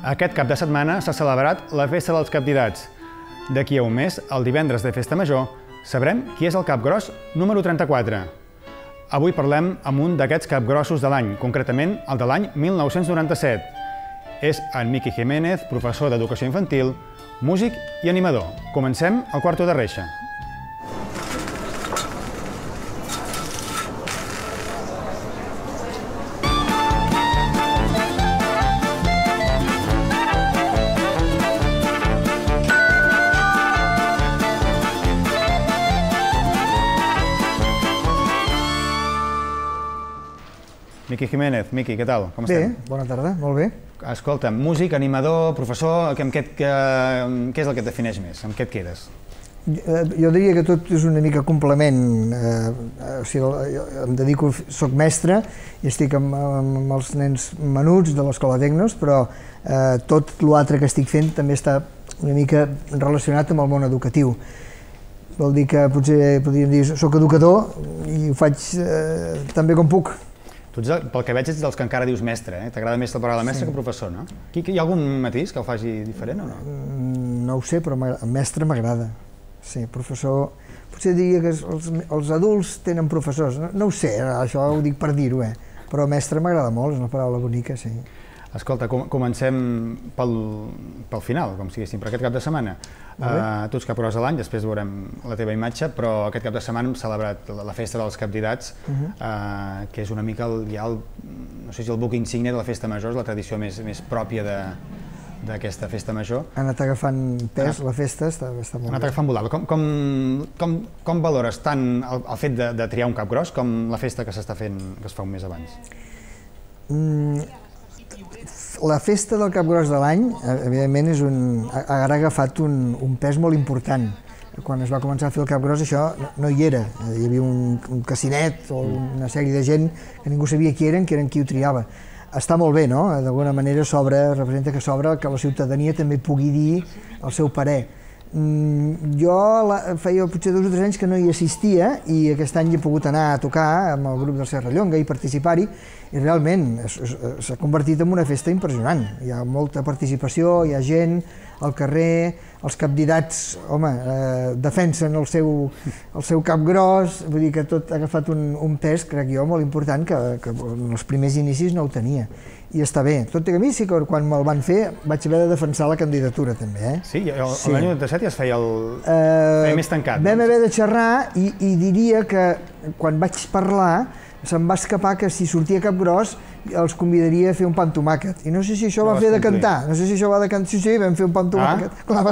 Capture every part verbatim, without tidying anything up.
Aquest cap de setmana s'ha celebrat la Festa dels Capdidats. D'aquí a un mes, el divendres de Festa Major, sabrem qui és el capgros número trenta-quatre. Avui parlem amb un d'aquests capgrossos de l'any, concretament el de l'any mil nou-cents noranta-set. És en Miqui Jiménez, professor d'Educació Infantil, músic i animador. Comencem al quarto de reixa. Miqui Jiménez, Miqui, què tal? Com estem? Bé, bona tarda, molt bé. Escolta'm, músic, animador, professor, què és el que et defineix més? Amb què et quedes? Jo diria que tot és una mica complement. O sigui, em dedico, soc mestre i estic amb els nens menuts de l'Escola Tecnos, però tot l'altre que estic fent també està una mica relacionat amb el món educatiu. Vol dir que potser podríem dir soc educador i ho faig també com puc. Tu, pel que veig, ets dels que encara dius mestre, eh? T'agrada més la paraula mestre que professor, no? Hi ha algun matís que el faci diferent o no? No ho sé, però mestre m'agrada. Sí, professor... Potser diria que els adults tenen professors. No ho sé, això ho dic per dir-ho, eh? Però mestre m'agrada molt, és una paraula bonica, sí. Escolta, comencem pel final, com si diguéssim, per aquest cap de setmana. Tu ets capgros de l'any, després veurem la teva imatge, però aquest cap de setmana hem celebrat la Festa dels Capdidats, que és una mica, no sé si el buc insígnia de la Festa Major, és la tradició més pròpia d'aquesta Festa Major. Ha anat agafant pes, la festa està molt bé. Ha anat agafant volada. Com valores tant el fet de triar un capgros com la festa que s'està fent, que es fa un mes abans? La festa del capgros de l'any, evidentment, ha agafat un pes molt important. Quan es va començar a fer el capgros això no hi era. Hi havia un cassinet o una sèrie de gent que ningú sabia qui eren, que eren qui ho triava. Està molt bé, no? D'alguna manera representa que s'obre que la ciutadania també pugui dir el seu parer. Jo feia potser dos o tres anys que no hi assistia i aquest any he pogut anar a tocar amb el grup del Serrallonga i participar-hi i realment s'ha convertit en una festa impressionant. Hi ha molta participació, hi ha gent al carrer, els capdidats, home, defensen el seu capgros, vull dir que tot ha agafat un pes, crec jo, molt important que en els primers inicis no ho tenia. I està bé. Tot i que a mi sí que quan me'l van fer vaig haver de defensar la candidatura també. Sí? L'any noranta-set ja es feia més tancat. Vam haver de xerrar i diria que quan vaig parlar se'm va escapar que si sortia capgros els convidaria a fer un pa amb tomàquet. I no sé si això va fer de cantar. No sé si això va de cantar. Sí, sí, vam fer un pa amb tomàquet. Clar,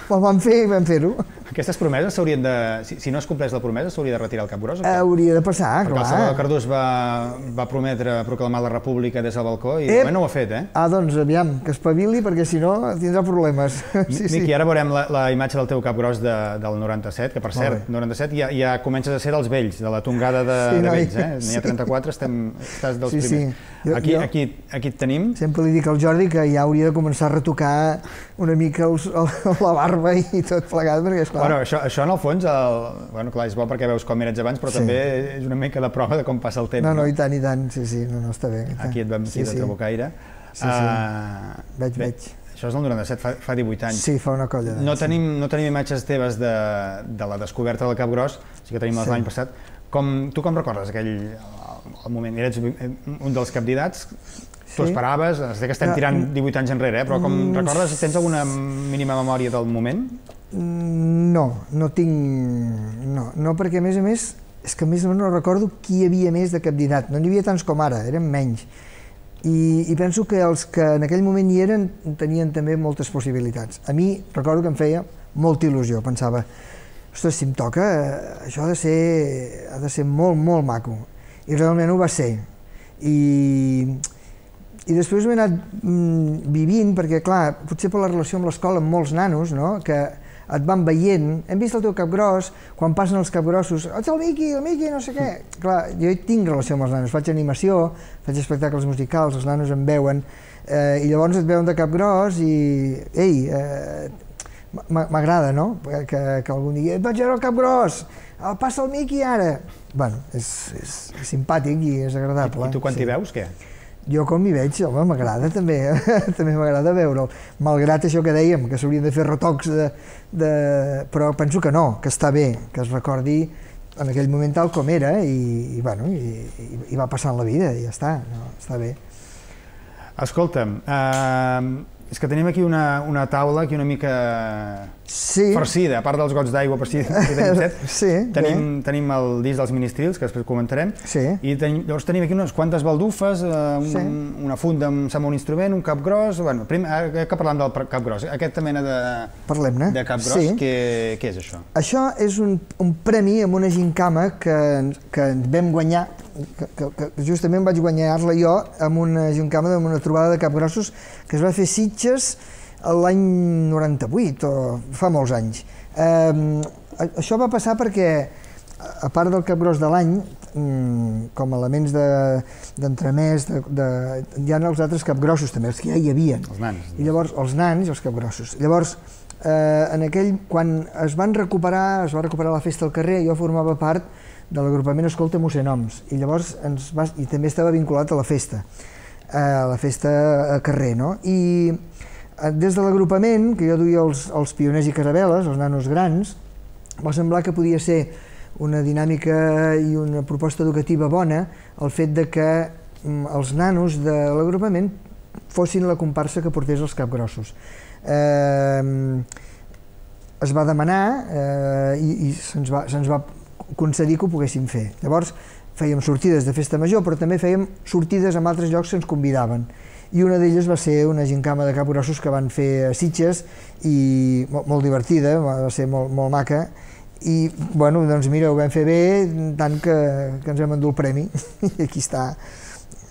me'l van fer i vam fer-ho. Aquestes promeses s'haurien de... Si no es compleix la promesa, s'hauria de retirar el capgros? Hauria de passar, clar. Perquè el Salvador Cardús va prometre proclamar la república des del balcó i de moment no ho ha fet, eh? Ah, doncs aviam, que espavili, perquè si no tindrà problemes. Miqui, ara veurem la imatge del teu capgros del noranta-set, que per cert, noranta-set ja comences a ser dels vells, de la tongada de vells, eh? N'hi ha trenta-quatre, estàs dels primers. Aquí et tenim. Sempre li dic al Jordi que ja hauria de començar a retocar una mica la barba i tot plegat, perquè esclar... Bueno, això en el fons, bueno, clar, és bo perquè veus com eres abans, però també és una mica de prova de com passa el temps. No, no, i tant, i tant, sí, sí, no, no, està bé. Aquí et vam dir de Trabucaire. Sí, sí, veig, veig. Això és del noranta-set, fa divuit anys. Sí, fa una colla d'anys. No tenim imatges teves de la descoberta del capgros, sí que tenim l'any passat. Tu com recordes aquell moment? Eres un dels capdidats, tu esperaves, sé que estem tirant divuit anys enrere, però com recordes, tens alguna mínima memòria del moment? No, no tinc... No, perquè a més a més, és que a més no recordo qui hi havia més de capdidat, no n'hi havia tants com ara, eren menys. I penso que els que en aquell moment hi eren tenien també moltes possibilitats. A mi recordo que em feia molta il·lusió, pensava, ostres, si em toca, això ha de ser, ha de ser molt, molt maco. I realment ho va ser. I després ho he anat vivint, perquè clar, potser per la relació amb l'escola amb molts nanos, que et van veient, hem vist el teu capgros, quan passen els capgrossos, ets el Miqui, el Miqui, no sé què. Clar, jo tinc relació amb els nanos, faig animació, faig espectacles musicals, els nanos em veuen, i llavors et veuen de capgros i, ei, m'agrada, no?, que algú digui, et vaig veure el capgros, passa el Miqui ara. Bueno, és simpàtic i és agradable. I tu quan t'hi veus, què? Jo com hi veig, home, m'agrada també, també m'agrada veure'l. Malgrat això que dèiem, que s'haurien de fer retocs, de, de... però penso que no, que està bé, que es recordi en aquell moment tal com era i, i, bueno, i, i, i va passant la vida i ja està, no, està bé. Escolta'm, eh, és que tenim aquí una, una taula aquí una mica sí. farcida, a part dels gots d'aigua, per si tenim set, sí, tenim, tenim el disc dels Ministrils, que després comentarem, sí. i tenim, llavors tenim aquí unes quantes baldufes, eh, un, sí. una funda amb, amb un instrument, un cap gros, bueno, primer, que parlem del cap gros, aquesta mena de, de cap gros, sí. què, què és això? Això és un, un premi amb una gincama que, que ens vam guanyar, que, que, que justament vaig guanyar-la jo amb una gincama, amb una trobada de capgrossos que es va fer Sitges l'any noranta-vuit, o fa molts anys. Eh, això va passar perquè, a part del capgros de l'any, com a elements d'entremès, de, de, de, hi ha els altres capgrossos també, els que ja hi havia. Els nans. I llavors, els nans i els capgrossos. Llavors, eh, en aquell, quan es van recuperar, es va recuperar la festa al carrer, jo formava part de l'agrupament Escolta Mossèn Oms, i llavors ens va, i també estava vinculat a la festa, a la festa a carrer, no? I des de l'agrupament, que jo duia els, els pioners i caravel·les, els nanos grans, va semblar que podia ser una dinàmica i una proposta educativa bona el fet de que els nanos de l'agrupament fossin la comparsa que portés els capgrossos. Eh, es va demanar eh, i, i se'ns va, se'ns va concedir que ho poguéssim fer. Llavors fèiem sortides de festa major, però també fèiem sortides en altres llocs que ens convidaven. I una d'elles va ser una gincama de capgrossos que van fer a Sitges, i molt, molt divertida, va ser molt, molt maca, i bueno, doncs mira, ho vam fer bé, tant que, que ens vam endur el premi, i aquí està.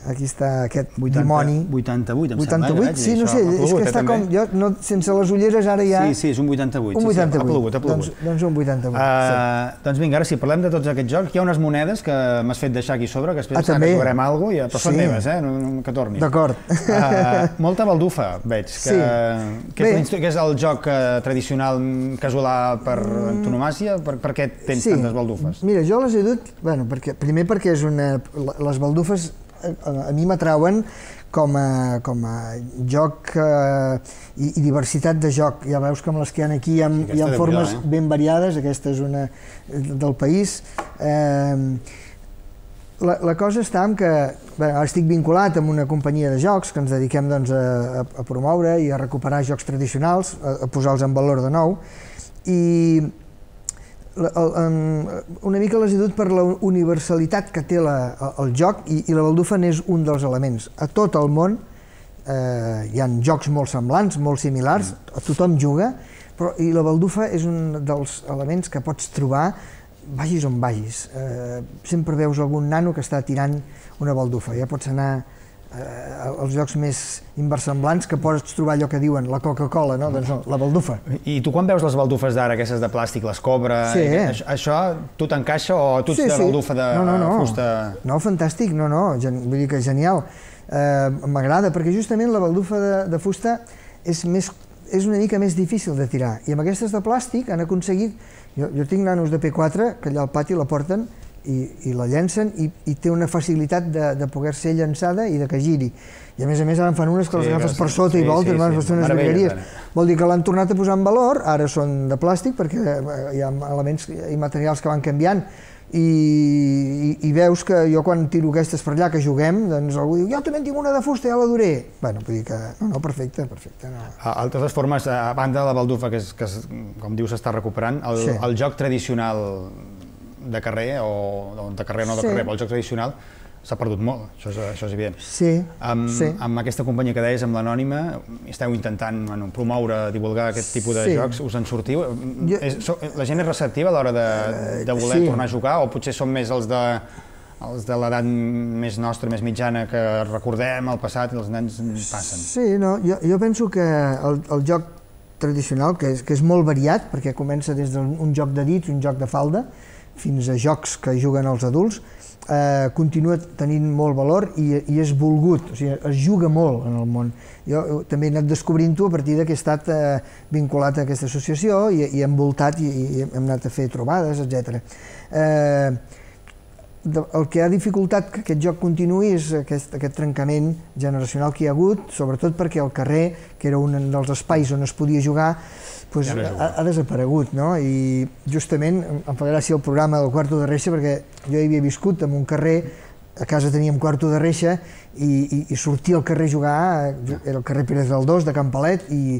Aquí està aquest dimoni. vuitanta-vuit, em sembla. vuitanta-vuit, sí, no sé, és que està com... Jo, no, sense les ulleres, ara ja... Sí, sí, és un vuitanta-vuit. Un vuitanta-vuit. Ha plogut, ha plogut. Doncs, doncs un vuitanta-vuit, uh, sí. Doncs vinga, ara sí, parlem de tots aquests jocs. Hi ha unes monedes que m'has fet deixar aquí sobre, que després ah, que jugarem alguna cosa, però sí. Són meves, eh? No, no, que tornis. D'acord. Uh, molta baldufa, veig. Que, sí. Que és, que és el joc uh, tradicional casolà per antonomàsia? Per, per què tens sí. tantes baldufes? Mira, jo les he dut, bueno, perquè, primer perquè és una... Les baldufes a mi m'atrauen com a, com a joc eh, i, i diversitat de joc. Ja veus que amb les que hi ha aquí hi ha, sí, hi ha formes eh? ben variades, aquesta és una del país. Eh, la, la cosa està en que bé, ara estic vinculat amb una companyia de jocs que ens dediquem doncs, a, a promoure i a recuperar jocs tradicionals, a, a posar-los en valor de nou, i una mica les he dut per la universalitat que té la, el joc, i, i la baldufa n'és un dels elements. A tot el món eh, hi ha jocs molt semblants, molt similars, tothom juga, però i la baldufa és un dels elements que pots trobar vagis on vagis. Eh, sempre veus algun nano que està tirant una baldufa, ja pots anar eh, als jocs més inversemblants que pots trobar allò que diuen la Coca-Cola, no? Doncs no, la baldufa. I tu quan veus les baldufes d'ara, aquestes de plàstic, les Cobra, sí. això, això tu t'encaixa o tu ets sí, de sí. baldufa de no, no, no. fusta? No, fantàstic, no, no, vull dir que genial. Eh, M'agrada, perquè justament la baldufa de, de fusta és, més, és una mica més difícil de tirar, i amb aquestes de plàstic han aconseguit... Jo, jo tinc nanos de P quatre que allà al pati la porten i, i la llencen, i, i té una facilitat de, de poder ser llançada i de que giri. I a més a més ara en fan unes que sí, les agafes per sota sí, i voltes, sí, sí, sí. Unes virgueries. Vol dir que l'han tornat a posar en valor, ara són de plàstic perquè hi ha elements i materials que van canviant, i, i, i veus que jo quan tiro aquestes per allà que juguem, doncs algú diu, jo també en tinc una de fusta, ja la duré. Bueno, vull dir que, no, no, perfecte, perfecte. No. A totes formes, a banda de la baldufa, que, és, que és, com dius, s'està recuperant, el, sí. el joc tradicional de carrer, o de carrer o no de sí. carrer, però el joc tradicional s'ha perdut molt, això és, això és evident. Sí, amb, sí. Amb aquesta companyia que deies, amb l'Anònima, esteu intentant bueno, promoure, divulgar aquest tipus de sí. jocs, us en sortiu? Jo... És, so, la gent és receptiva a l'hora de, de voler sí. tornar a jugar, o potser són més els de, els de l'edat més nostra, més mitjana, que recordem el passat i els nens passen? Sí, no, jo, jo penso que el, el joc tradicional, que és, que és molt variat, perquè comença des d'un joc de dits, un joc de falda, fins a jocs que juguen els adults, eh, continua tenint molt valor i, i és volgut, o sigui, es juga molt en el món. Jo també he anat descobrint-ho a partir que he estat eh, vinculat a aquesta associació i, i envoltat i, i hem anat a fer trobades, etcètera. Eh, el que ha dificultat que aquest joc continuï és aquest, aquest trencament generacional que hi ha hagut, sobretot perquè el carrer, que era un dels espais on es podia jugar, pues, ja ha, ha desaparegut, no? I justament em fa gràcia el programa del Quarto de Reixa, perquè jo hi havia viscut en un carrer, a casa teníem Quarto de Reixa, i, i, i sortia al carrer a jugar, era el carrer Pérez Galdós, de Can Palet, i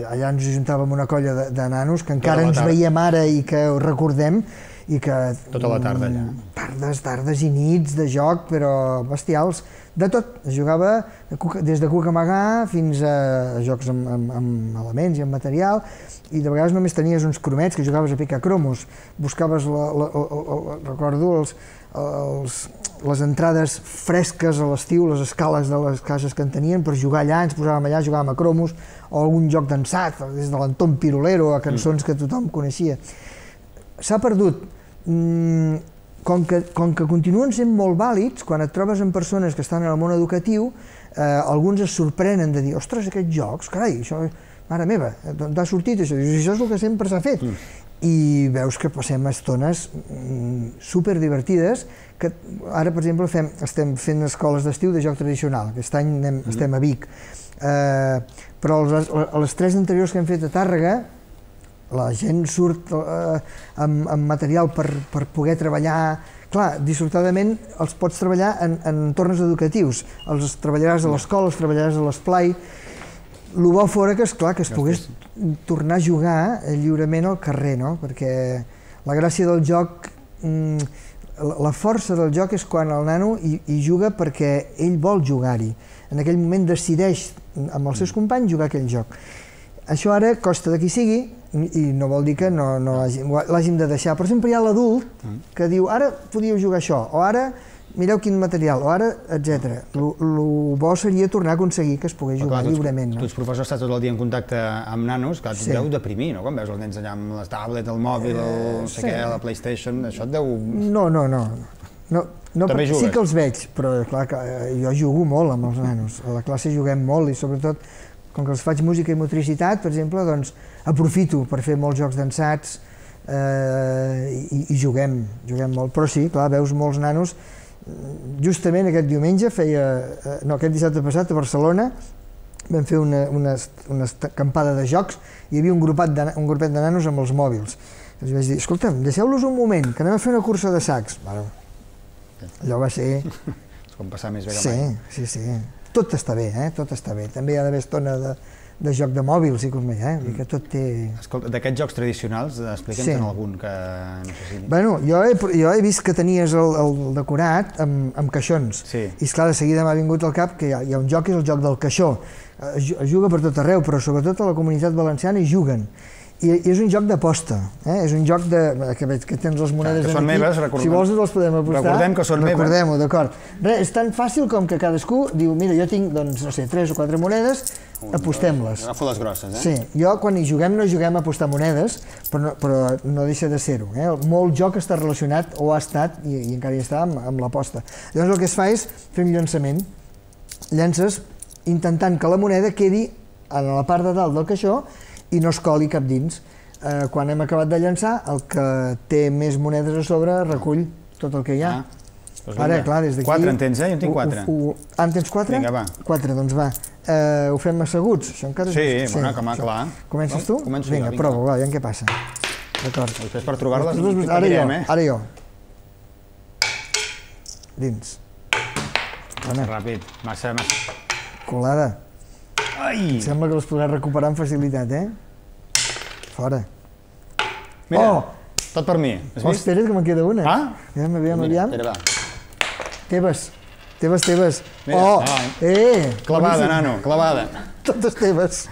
allà ens ajuntàvem una colla de, de nanos que encara ens veiem ara i que ho recordem, i que... Tota la tarda allà. Tardes, tardes i nits de joc, però bestials. De tot, es jugava des de Cucamarga fins a jocs amb, amb, amb elements i amb material, i de vegades només tenies uns cromets que jugaves a picar cromos. Buscaves, la, la, la, la, recordo, els, els, les entrades fresques a l'estiu, les escales de les cases que en tenien, per jugar allà, ens posàvem allà, jugàvem a cromos, o algun joc d'ensat, des de l'Anton Pirulero, a cançons que tothom coneixia. S'ha perdut. Com que, com que continuen sent molt vàlids, quan et trobes amb persones que estan en el món educatiu, eh, alguns es sorprenen de dir, ostres, aquests jocs, carai, això, mare meva, d'on ha sortit això? I això és el que sempre s'ha fet. Mm. I veus que passem estones mm, superdivertides, que ara, per exemple, fem, estem fent escoles d'estiu de joc tradicional, aquest any anem, mm. estem a Vic, eh, però les, les tres anteriors que hem fet a Tàrrega, la gent surt eh, amb, amb material per, per poder treballar. Clar, dissortadament els pots treballar en, en entorns educatius. Els treballaràs a l'escola, els treballaràs a l'esplai. El bo fora que, esclar, que es pogués tornar a jugar lliurement al carrer, no? Perquè la gràcia del joc, la força del joc és quan el nano hi, hi juga perquè ell vol jugar-hi. En aquell moment decideix amb els seus companys jugar aquell joc. Això ara costa de qui sigui, i no vol dir que no, no l'hàgim de deixar, però sempre hi ha l'adult que diu ara podíeu jugar això, o ara mireu quin material, o ara, etcètera. El bo seria tornar a aconseguir que es pogués jugar lliurement. Tu ets professor, estàs tot el dia en contacte amb nanos, que et deu deprimir, no? Quan veus els nens allà amb les tablets, el mòbil, no sé què, la PlayStation, això et deu... No, no, no. Sí que els veig, però clar, jo jugo molt amb els nanos. A la classe juguem molt i sobretot com que els faig música i motricitat, per exemple, doncs aprofito per fer molts jocs d'ensats i, i juguem, juguem molt. Però sí, clar, veus molts nanos. Justament aquest diumenge feia, no, aquest dissabte passat a Barcelona vam fer una, una, una acampada de jocs i hi havia un grupet de, un grupet de nanos amb els mòbils. Els vaig dir, escolta'm, deixeu-los un moment, que anem a fer una cursa de sacs. Bueno, allò va ser... És com passar més bé que mai. Sí, sí, sí. Tot està bé, eh? Tot està bé. També hi ha d'haver estona de, de joc de mòbils i com bé, eh? Mm. Que tot té... Escolta, d'aquests jocs tradicionals, explica'ns sí. en algun que no sé si... Bueno, jo he, jo he vist que tenies el, el decorat amb, amb caixons. Sí. I esclar, de seguida m'ha vingut al cap que hi ha, hi ha un joc que és el joc del caixó. Es, es juga per tot arreu, però sobretot a la comunitat valenciana hi juguen. I, i és un joc d'aposta, eh? És un joc de... que veig que tens les monedes que són aquí. Meves, recordem. Si vols les podem apostar. Recordem que són meves. Recordem-ho, d'acord. Res, és tan fàcil com que cadascú diu, mira, jo tinc, doncs, no sé, tres o quatre monedes, apostem-les. Agafo les grosses, eh? Sí, jo quan hi juguem no juguem a apostar monedes, però no, però no deixa de ser-ho, eh? Molt joc està relacionat, o ha estat, i, i encara hi està, amb, amb l'aposta. Llavors el que es fa és fer un llançament. Llances intentant que la moneda quedi a la part de dalt del caixó i no es coli cap dins. Eh, quan hem acabat de llançar, el que té més monedes a sobre recull tot el que hi ha. Ah, doncs ara, clar, des d'aquí... Quatre en tens, eh? Jo en tinc quatre. Ho, ho, ah, en tens quatre? Vinga, va. Quatre, doncs va. Eh, ho fem asseguts? Això encara... Sí, sí, bueno, que clar. Comences tu? Començo vinga, jo, prova, va, ja en què passa. D'acord. Després per trobar-les, ara jo, eh? ara jo. Dins. Massa ràpid, massa, massa... Colada. Ai! Sembla que les podràs recuperar amb facilitat, eh? Fora. Mira, oh! Tot per mi. Has oh, vist? espera't que me'n queda una. Ah? Aviam, aviam, aviam. Espera, va. Teves. Teves, teves. Mira, oh! Ah, eh! Clavada, nano, clavada. Totes teves.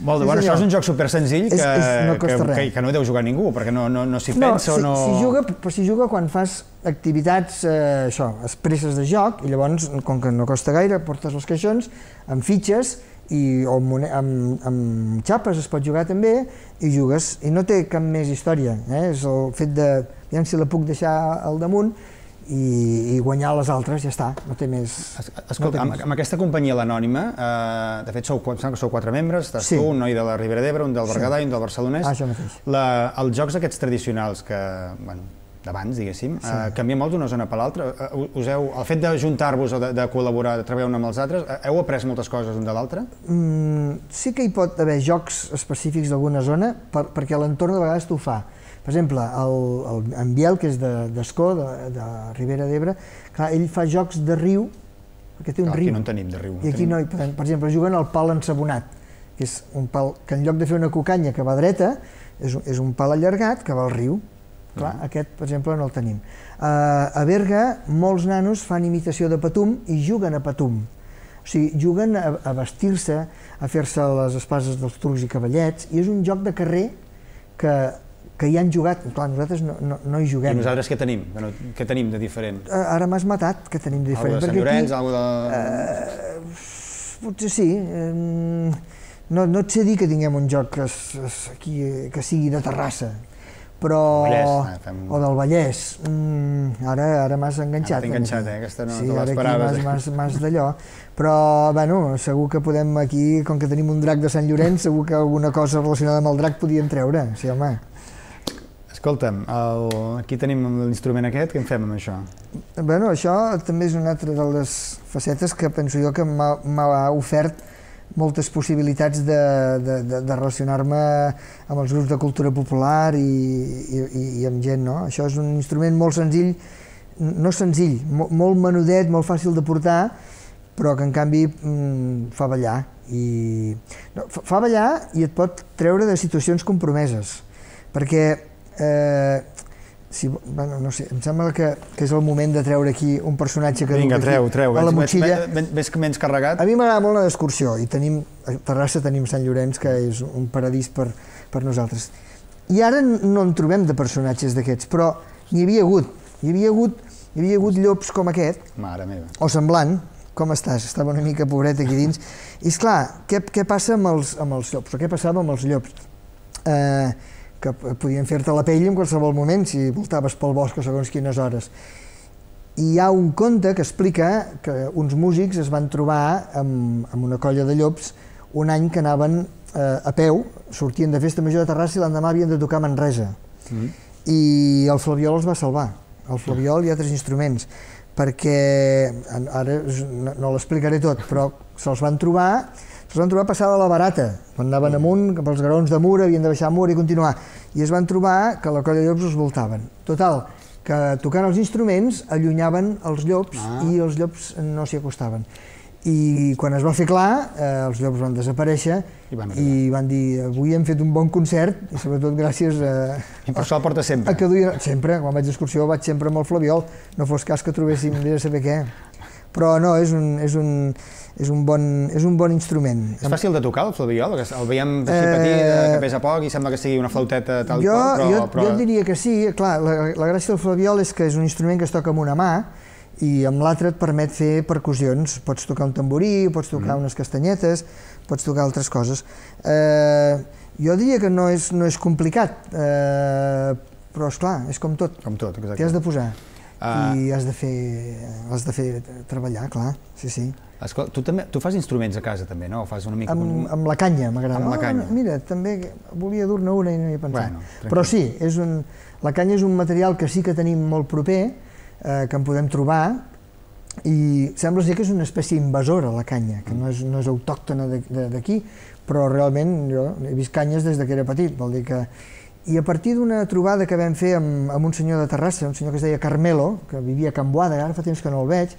Molt bé, sí, bueno, això és un joc super senzill que, és, és, no que, que, que no deu jugar ningú, perquè no, no, no s'hi no, pensa si, o no... Si juga, però si juga quan fas activitats, eh, això, expresses de joc, i llavors, com que no costa gaire, portes els caixons amb fitxes i o amb, amb, amb xapes es pot jugar també, i jugues, i no té cap més història, eh? És el fet de, aviam si la puc deixar al damunt, i, i guanyar les altres, ja està, no té més... Escolta, no amb, amb aquesta companyia l'Anònima, eh, de fet sou, que sou quatre membres, estàs sí. tu, un noi de la Ribera d'Ebre, un del Berguedà i un del Barcelonès. Ah, això mateix. La, els jocs aquests tradicionals que, bueno, d'abans, diguéssim, sí. eh, canvia molt d'una zona per l'altra. Eh, us heu, el fet d'ajuntar-vos o de, de col·laborar, de treballar un amb els altres, eh, heu après moltes coses un de l'altre? Mm, sí que hi pot haver jocs específics d'alguna zona, per, perquè l'entorn de vegades t'ho fa. Per exemple, el, el, en Biel, que és d'Escó, de, de, de Ribera d'Ebre, clar, ell fa jocs de riu, perquè té un clar, riu. Aquí no en tenim, de riu. I aquí tenim. no, per, per exemple, juguen al pal ensabonat, que és un pal que en lloc de fer una cucanya que va dreta, és, és un pal allargat que va al riu. Clar, uh-huh. Aquest, per exemple, no el tenim. Uh, a Berga, molts nanos fan imitació de patum i juguen a patum. O sigui, juguen a, a vestir-se, a fer-se les espases dels turcs i cavallets, i és un joc de carrer que, que hi han jugat. Clar, nosaltres no, no, no hi juguem. I nosaltres què tenim? Bueno, què tenim de diferent? Uh, ara m'has matat, què tenim de diferent? Algo de Sant Llorenç, algo de... Uh, potser sí. Um, no, no et sé dir que tinguem un joc que, es, aquí, que sigui de Terrassa. Però... Vallès, fem... o del Vallès. Mm, ara ara m'has enganxat. Ara t'he enganxat, eh? Aquesta no sí, te l'esperaves. Sí, ara m'has d'allò. Però, bueno, segur que podem aquí, com que tenim un drac de Sant Llorenç, segur que alguna cosa relacionada amb el drac podíem treure. Sí, home. Escolta'm, el... aquí tenim l'instrument aquest, què en fem amb això? Bueno, això també és una altra de les facetes que penso jo que m'ha ofert moltes possibilitats de, de, de, de relacionar-me amb els grups de cultura popular i, i, i amb gent, no? Això és un instrument molt senzill, no senzill, molt, molt menudet, molt fàcil de portar, però que en canvi mm, fa ballar. I, no, fa, fa ballar i et pot treure de situacions compromeses, perquè eh, si, bueno, no sé, em sembla que, que és el moment de treure aquí un personatge que Vinga, duc treu, aquí treu. a la motxilla. Ves que menys carregat? A mi m'agrada molt anar d'excursió i tenim, a Terrassa tenim Sant Llorenç, que és un paradís per, per nosaltres. I ara no en trobem de personatges d'aquests, però n'hi havia hagut. Hi havia hagut, hi havia hagut llops com aquest, Mare meva. o semblant. Com estàs? Estava una mica pobret aquí dins. I esclar, què, què passa amb els, amb els llops? O què passava amb els llops? Eh, que podien fer-te la pell en qualsevol moment si voltaves pel bosc a segons quines hores. I hi ha un conte que explica que uns músics es van trobar amb, amb una colla de llops un any que anaven eh, a peu, sortien de festa major de Terrassa i l'endemà havien de tocar a Manresa. Mm. I el Flabiol els va salvar, el Flabiol i altres instruments, perquè, ara no, no l'explicaré tot, però se'ls van trobar es van trobar passada la barata, quan anaven amunt, cap als graons de Mur, havien de baixar a Mur i continuar, i es van trobar que la colla de llops els voltaven. Total, que tocant els instruments allunyaven els llops ah. i els llops no s'hi acostaven. I quan es va fer clar, eh, els llops van desaparèixer i van, i van dir, avui hem fet un bon concert, i sobretot gràcies a... I per això el porta sempre. A que duia, sempre, quan vaig d'excursió vaig sempre amb el Flabiol, no fos cas que trobéssim de saber què. Però no, és un, és un, és un, bon, és un bon instrument. És fàcil de tocar, el Flabiol? El veiem així eh, petit, que pesa poc i sembla que sigui una flauteta tal jo, qual, però, jo, però... Jo diria que sí, clar, la, la gràcia del Flabiol és que és un instrument que es toca amb una mà i amb l'altra et permet fer percussions. Pots tocar un tamborí, pots tocar mm. unes castanyetes, pots tocar altres coses. Eh, jo diria que no és, no és complicat, eh, però esclar, és com tot. Com tot, exacte. T'hi has de posar. Uh, i has de fer, has de fer treballar, clar, sí, sí. Escolta, tu, també, tu fas instruments a casa també, no? O fas una mica... Amb, amb la canya, m'agrada. Amb la canya. Oh, mira, també volia dur-ne una i no hi he pensat. Bueno, però sí, és un, la canya és un material que sí que tenim molt proper, eh, que en podem trobar, i sembla ser que és una espècie invasora, la canya, que no és, no és autòctona d'aquí, però realment jo he vist canyes des que era petit, vol dir que... I a partir d'una trobada que vam fer amb, amb un senyor de Terrassa, un senyor que es deia Carmelo, que vivia a Can Boada, ara fa temps que no el veig,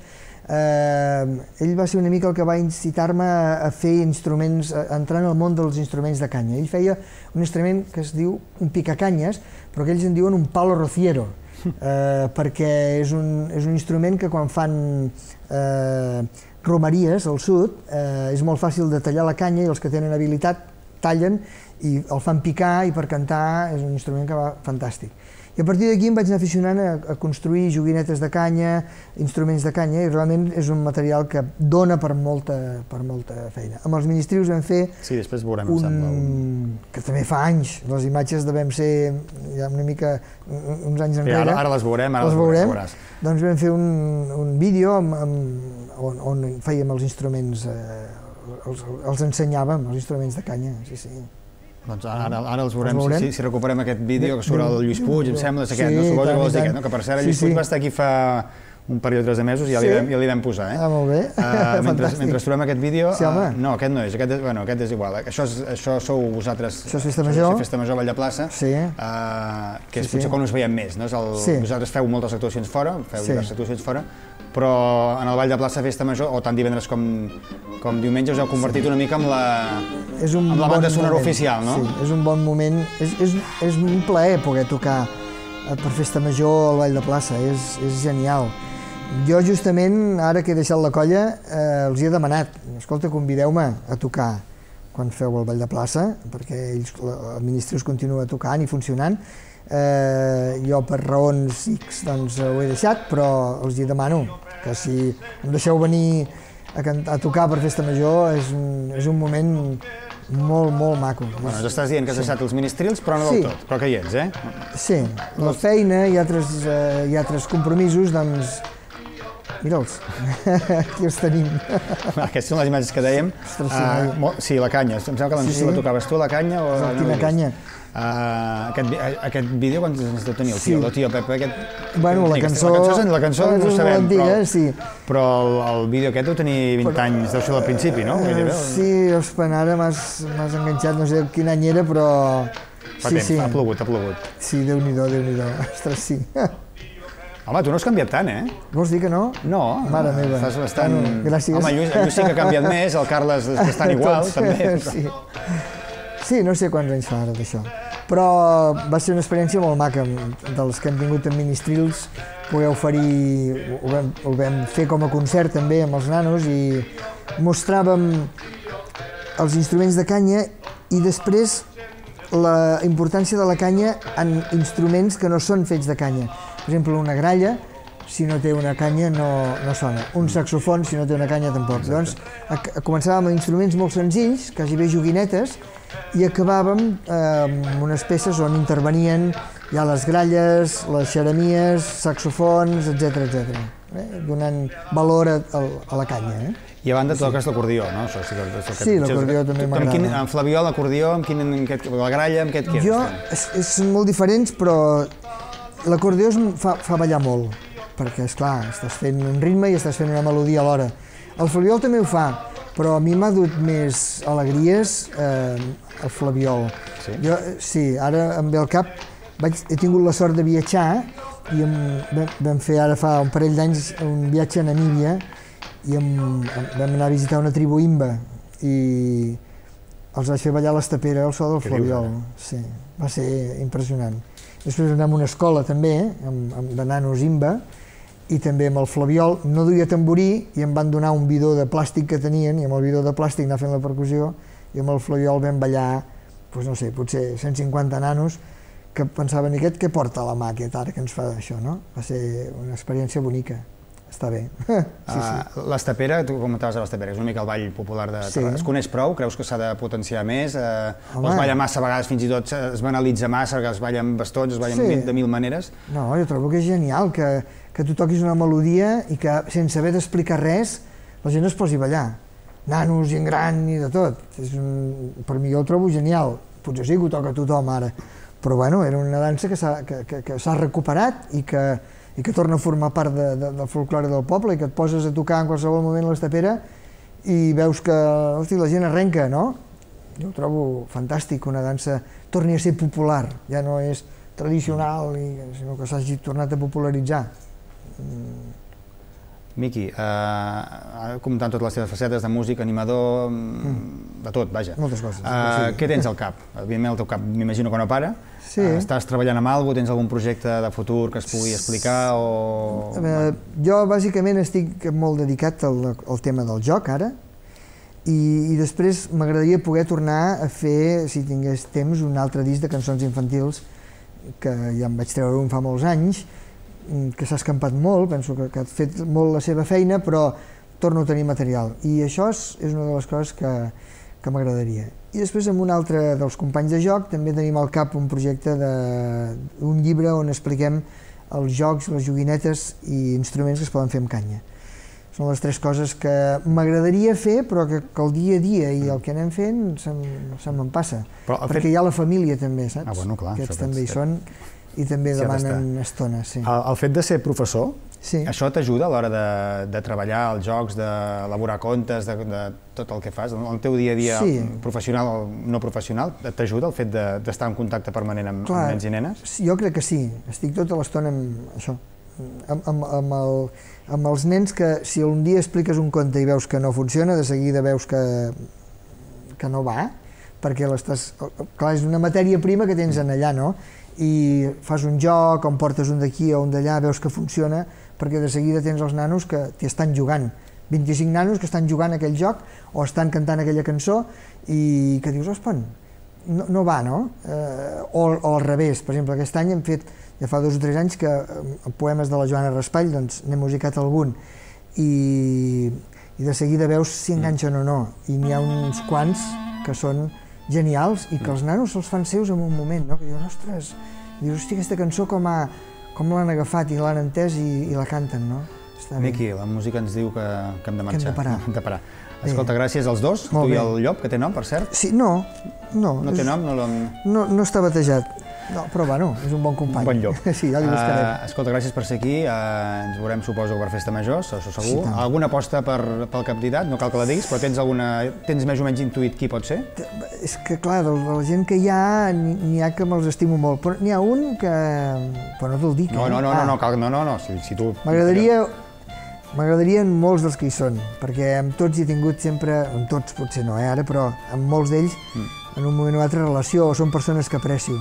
eh, ell va ser una mica el que va incitar-me a fer instruments, a entrar en el món dels instruments de canya. Ell feia un instrument que es diu un picacanyes, però que ells en diuen un palo rociero, eh, perquè és un, és un instrument que quan fan eh, romeries al sud eh, és molt fàcil de tallar la canya i els que tenen habilitat tallen i el fan picar i per cantar és un instrument que va fantàstic. I a partir d'aquí em vaig anar aficionant a, a construir joguinetes de canya, instruments de canya, i realment és un material que dona per molta, per molta feina. Amb els ministrius vam fer sí, després veurem, un... un... que també fa anys, les imatges devem ser ja una mica uns anys enrere. Ara, ara les veurem, ara les, les veurem. veuràs. Doncs vam fer un, un vídeo amb, amb, on, on fèiem els instruments, eh, els, els ensenyàvem, els instruments de canya, sí, sí. Doncs ara, ara els veurem, si, si recuperem aquest vídeo que surt el Lluís Puig, em sembla, és aquest, sí, no? Suposo que vols dir tant. aquest, no? Que per cert, el Lluís Sí, sí. Puig va estar aquí fa un període de mesos i ja, Sí? li, vam, ja li vam posar, eh? Ah, molt bé. Uh, mentre, Fantàstic. mentre trobem aquest vídeo... Sí, home. Uh, no, aquest no és, aquest és, bueno, aquest és igual. Això, és, això sou vosaltres... Això és Festa Major. Això és Festa Major a Vall de Plaça. Sí. Uh, que és Sí, sí. potser quan us veiem més, no? És el, Sí. Vosaltres feu moltes actuacions fora, feu Sí. diverses actuacions fora, però en el Vall de Plaça Festa Major, o tant divendres com, com diumenge, us heu convertit una mica amb la, És un amb la bon banda sonora moment. oficial, no? Sí, és un bon moment. És, és, és un plaer poder tocar per Festa Major al Vall de Plaça, és, és genial. Jo justament, ara que he deixat la colla, eh, els hi he demanat, escolta, convideu-me a tocar quan feu el Vall de Plaça, perquè ells, el Ministrius continua tocant i funcionant. Eh, jo per raons X doncs, ho he deixat, però els hi demano que si em deixeu venir a, a tocar per Festa Major és un, és un moment molt, molt maco. Bueno, ens estàs dient que has Sí. deixat els ministrils, però no del Sí. tot, però que hi ets, eh? Sí, la feina i altres, eh, i altres compromisos, doncs, mira'ls, aquí els tenim. Aquestes són les imatges que dèiem. Ostres, sí, Uh, noi. mo- sí, la canya. Em sembla que no sé Sí, si la sí. tocaves tu, la canya, o... Quina no l'he vist. canya? Uh, aquest, vi- aquest vídeo, quants anys deu tenir el Sí. tio? El tio Pepe, aquest... Bueno, la Aquesta- cançó... La cançó, la cançó no ho és molt sabem, antiga, però, sí. però el, el vídeo aquest deu tenir vint anys, deu ser del principi, no? Eh, Gairebé. sí, ospa, ara m'has m'has enganxat, no sé quin any era, però... Fa Sí, temps, sí, ha plogut, ha plogut. sí, Déu-n'hi-do, Déu-n'hi-do, ostres, sí. Home, tu no has canviat tant, eh? Vols dir que no? No, Mare meva. estàs bastant... Bueno, gràcies. Home, Lluís, Lluís sí que ha canviat més, el Carles és bastant igual, Tots, també. Però... Sí. sí, no sé quants anys fa ara d'això. Però va ser una experiència molt maca, dels que hem tingut en Ministrils, poder oferir, ho vam, ho vam fer com a concert també amb els nanos i mostràvem els instruments de canya i després la importància de la canya en instruments que no són fets de canya. Per exemple, una gralla, si no té una canya no, no sona. Un saxofon, si no té una canya tampoc. Exacte. Llavors, a, a començàvem amb instruments molt senzills, quasi bé joguinetes, i acabàvem eh, amb unes peces on intervenien ja les gralles, les xeremies, saxofons, etcètera, etcètera, eh? Donant valor a, a, a la canya. Eh? I a banda toques l'acordió, no? Això sí, que, que, Sí, l'acordió també Amb quin, m'agrada. amb Flabiol, l'acordió, amb quin, amb aquest, la gralla, amb què et quedes? Jo, és, és, són molt diferents, però l'acordió es fa, fa ballar molt, perquè, esclar, estàs fent un ritme i estàs fent una melodia alhora. El flabiol també ho fa, però a mi m'ha dut més alegries eh, el flabiol. Sí? Jo, sí, ara em ve al cap, vaig, he tingut la sort de viatjar i em, vam, vam fer ara fa un parell d'anys un viatge a Namíbia i em, em, vam anar a visitar una tribu imba i els vaig fer ballar a l'estapera al so del Què flabiol. dius, Sí, va ser impressionant. Després vam anar a una escola també, amb, amb de nanos imba, i també amb el flabiol. No duia tamborí i em van donar un bidó de plàstic que tenien, i amb el bidó de plàstic anar fent la percussió, i amb el flabiol vam ballar, doncs no sé, potser cent cinquanta nanos, que pensaven, i aquest què porta a la mà, aquest ara que ens fa això, no? Va ser una experiència bonica. Està bé. Sí, sí. Uh, l'estapera, tu comentaves a l'estapera, és una mica el ball popular de Sí. Terrassa. Es coneix prou? Creus que s'ha de potenciar més? Uh, o Home. es balla massa, a vegades fins i tot es banalitza massa, que es balla amb bastons, es balla Sí. sí. de mil maneres? No, jo trobo que és genial que, que tu toquis una melodia i que sense haver d'explicar res la gent es posi a ballar. Nanos, gent gran i de tot. És un, per mi jo ho trobo genial. Potser sí que ho toca tothom ara, però bueno, era una dansa que s'ha que, que, que s'ha recuperat i que, i que torna a formar part de, de, del folklore del poble i que et poses a tocar en qualsevol moment a l'estapera i veus que hosti, la gent arrenca, no? Jo ho trobo fantàstic que una dansa torni a ser popular, ja no és tradicional, i, sinó que s'hagi tornat a popularitzar. Mm. Miqui, uh, comentant totes les teves facetes de músic, animador, mm. de tot, vaja. Moltes coses. Uh, Sí. què tens al cap? Evidentment el teu cap m'imagino que no para. Sí. Uh, estàs treballant amb alguna cosa? Tens algun projecte de futur que es pugui explicar? O... Eh, jo bàsicament estic molt dedicat al, al tema del joc ara i, i després m'agradaria poder tornar a fer, si tingués temps, un altre disc de cançons infantils que ja em vaig treure un fa molts anys, que s'ha escampat molt, penso que, que ha fet molt la seva feina, però torno a tenir material. I això és, és una de les coses que, que m'agradaria. I després amb un altre dels companys de joc també tenim al cap un projecte d'un llibre on expliquem els jocs, les joguinetes i instruments que es poden fer amb canya. Són les tres coses que m'agradaria fer, però que, que el dia a dia i el que anem fent se'm, se me'n passa. Perquè fet... hi ha la família també, saps? Ah, bueno, clar. Aquests també hi són i també sí, demanen estona. Sí. El, el fet de ser professor, sí. Això t'ajuda a l'hora de, de treballar els jocs, d'elaborar contes, de, de tot el que fas? El teu dia a dia sí. professional o no professional, t'ajuda el fet d'estar en contacte permanent amb, clar, amb nens i nenes? Jo crec que sí. Estic tota l'estona amb això. Amb, amb, amb, el, amb els nens que si un dia expliques un conte i veus que no funciona, de seguida veus que, que no va, perquè l'estàs... Clar, és una matèria prima que tens en allà, no? I fas un joc, on portes un d'aquí o un d'allà, veus que funciona, perquè de seguida tens els nanos que t'hi estan jugant. vint-i-cinc nanos que estan jugant aquell joc o estan cantant aquella cançó i que dius, ospa, no, no va, no? Eh, o, o al revés, per exemple, aquest any hem fet, ja fa dos o tres anys que en poemes de la Joana Raspall doncs n'he musicat algun i, i de seguida veus si enganxen o no, i n'hi ha uns quants que són genials i que els nanos se'ls fan seus en un moment, no? Que diuen, ostres, dius, hosti, aquesta cançó com, ha, com l'han agafat i l'han entès i, i la canten, no? Miqui, la música ens diu que, que hem de marxar. Que hem de parar. Hem de parar. Escolta, gràcies als dos, tu i el llop, que té nom, per cert. Sí, no, no. No té nom? No, no, no està batejat. No, però bueno, és un bon company. Un bon llop. Sí, ja li buscarem. Uh, escolta, gràcies per ser aquí. Uh, ens veurem, suposo, per Festa Major, això segur. Sí, alguna aposta per, pel candidat? No cal que la diguis, però tens alguna... Tens més o menys intuït qui pot ser? És que, clar, de la gent que hi ha, n'hi ha que me'ls estimo molt, però n'hi ha un que... Però no te'l dic, no, no, no, ah. no, no, cal, no, no, no, si, si tu... M'agradaria... M'agradarien molts dels que hi són, perquè amb tots hi he tingut sempre, amb tots potser no, eh, ara, però amb molts d'ells mm. en un moment o altre relació, o són persones que aprecio.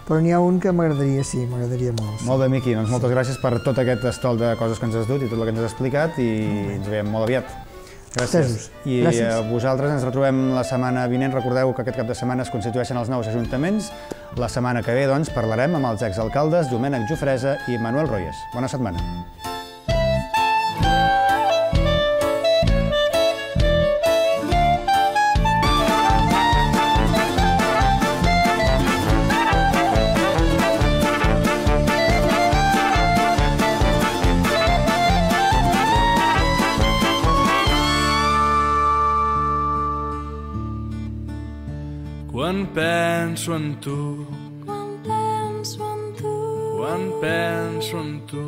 Però n'hi ha un que m'agradaria, sí, m'agradaria molt. Molt bé, Miqui, doncs moltes gràcies per tot aquest estol de coses que ens has dut i tot el que ens has explicat i ens veiem molt aviat. Gràcies. I a vosaltres ens retrobem la setmana vinent. Recordeu que aquest cap de setmana es constitueixen els nous ajuntaments. La setmana que ve, doncs, parlarem amb els exalcaldes Domènec Jofresa i Manuel Royes. Bona setmana. Quan penso en tu, quan penso en tu, quan penso en tu,